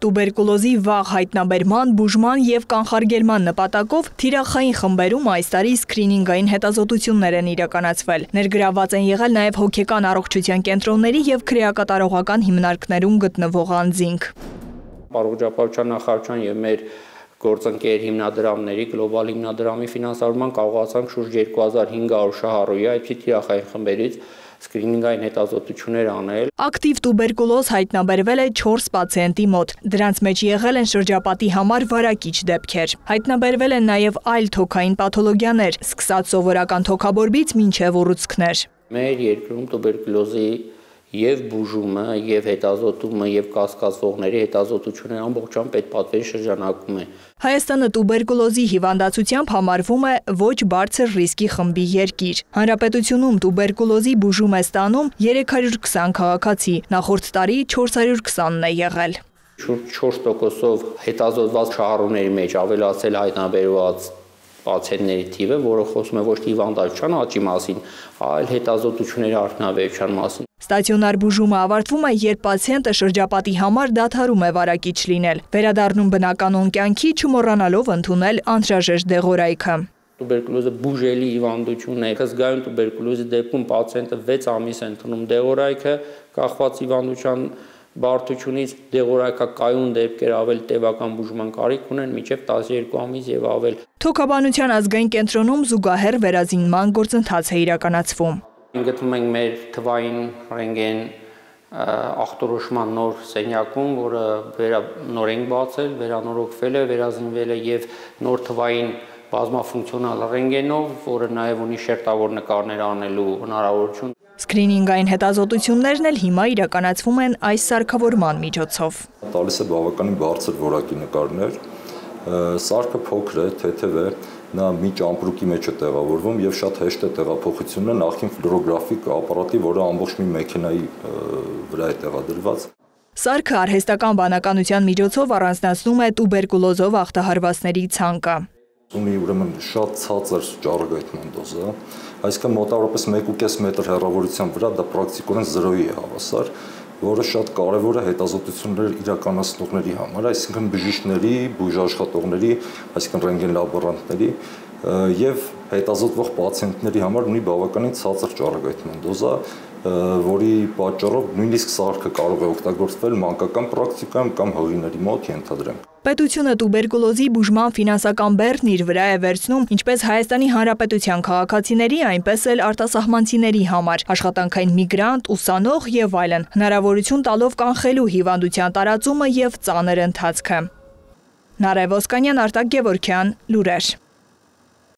Տուբերկուլոզի վաղ հայտնաբերման, բուժման և կանխարգելման նպատակով թիրախային խմբերում այս տարի սկրինինգային հետազոտություններ են իրականացվել։ Ներգրավված են եղել նաև հոգեկան առողջության կենտրոնների և քրեակատարողական հիմնարկներում գտնվող անձինք։ Առողջապահության նախարարության և մեր գործընկեր հիմնադրամների, գլոբալ հիմնադրամի ֆինանսավորման կարողացանք շուրջ 2500 շահառուի այդպիսի թիրախային խմբերից սկրինինգային հետազոտություններ անել։ Ակտիվ տուբերկուլոզ հայտնաբերվել է 4 պացիենտի մոտ։ Դրանց մեջ եղել են շրջապատի համար վարակիչ դեպքեր։ Հայտնաբերվել են նաև այլ թոքային պաթոլոգիաներ, սկսած սովորական թոքաբորբից մինչև ուռուցքներ։ Մեր երկրում տուբերկուլոզի և բուժումը, և հետազոտումը, և կասկածվողների հետազոտությունը ամբողջությամբ պետպատվերի շրջանակում է։ Հայաստանը տուբերկուլոզի հիվանդացությամբ համարվում է ոչ բարձր ռիսկի խմբի երկիր։ Հանրապետությունում տուբերկուլոզի բուժում է ստանում 320 քաղաքացի, նախորդ տարի 420-ն է եղել։ Շուրջ 4%-ով հետազոտված շահառուների մեջ ավելացել հայտնաբերված պացիենտների թիվը, որը խոսում է ոչ թե հիվանդացության աճի մասին, այլ հետազոտությունների արդյունավետության մասին։ Ստացիոնար բուժումը ավարտվում է, երբ պացիենտը շրջապատի համար դադարում է վարակիչ լինել, վերադառնում բնականոն կյանքի, չմոռանալով ընդունել անհրաժեշտ դեղորայքը։ Տուբերկուլոզը բուժելի հիվանդություն է։ Զգայուն տուբերկուլոզի դեպքում պացիենտը 6 ամիս է ընդունում դեղորայքը, կախված հիվանդության բարդությունից դեղորայքակայուն դեպքեր ավելի տևական բուժման կարիք ունեն մինչև 12 ամիս եւ ավել։ Թոքաբանության ազգային կենտրոնում զուգահեռ վերազինման գործընթաց է իրականացվում։ Գտնվում ենք մեր թվային ռենտգեն ախտորոշման նոր սենյակում, որը նոր ենք բացել, վերանորոգվել է, վերազինվել է եւ նոր թվային բազմաֆունկցիոնալ ռենտգենով, որը նաեւ ունի շերտավոր նկարներ անելու հնարավորություն։ Սկրինինգային հետազոտություններն էլ հիմա իրականացվում են այս սարքավորման միջոցով։ Տալիս է բավականին բարձր որակի նկարներ, սարքը փոքր է, թեթև է, նա մի ճամպրուկի մեջ է տեղավորվում եւ շատ հեշտ է տեղափոխությունը նախքին ֆլորոգրաֆիկ ապարատի, որը ամբողջ մի մեքենայի վրա է տեղադրված։ Սարքը արհեստական բանականության միջոցով առանձնացնում է տուբերկուլոզով ախտահարվածների ցանկը։ Ունի ուրեմն շատ ցածր ճառագայթման դոզա, այսինքն մոտավորապես 1.5 մետր հեռավորության վրա դա պրակտիկորեն 0-ի է հավասար, որը շատ կարևոր է հետազոտություններ իրականացնողների համար, այսինքն բժիշկների, բուժաշխատողների, այսինքն ռենտգեն լաբորանտների եւ հետազոտվող պացիենտների համար ունի բավականին ցածր ճառագայթման դոզա, որի պատճառով նույնիսկ սարքը կարող է օգտագործվել մանկական պրակտիկայում կամ հղիների մոտ ենթադրենք։ Պետությունը տուբերկուլոզի բուժման ֆինանսական բեռն իր վրա է վերցնում ինչպես Հայաստանի Հանրապետության քաղաքացիների, այնպես էլ արտասահմանցիների համար, աշխատանքային միգրանտ, ուսանող եւ այլն, հնարավորություն տալով կանխելու հիվանդության տարածումը եւ ծանր ընթացքը։ Նարեկ Ոսկանյան, Արտակ Գևորգյան, լուրեր։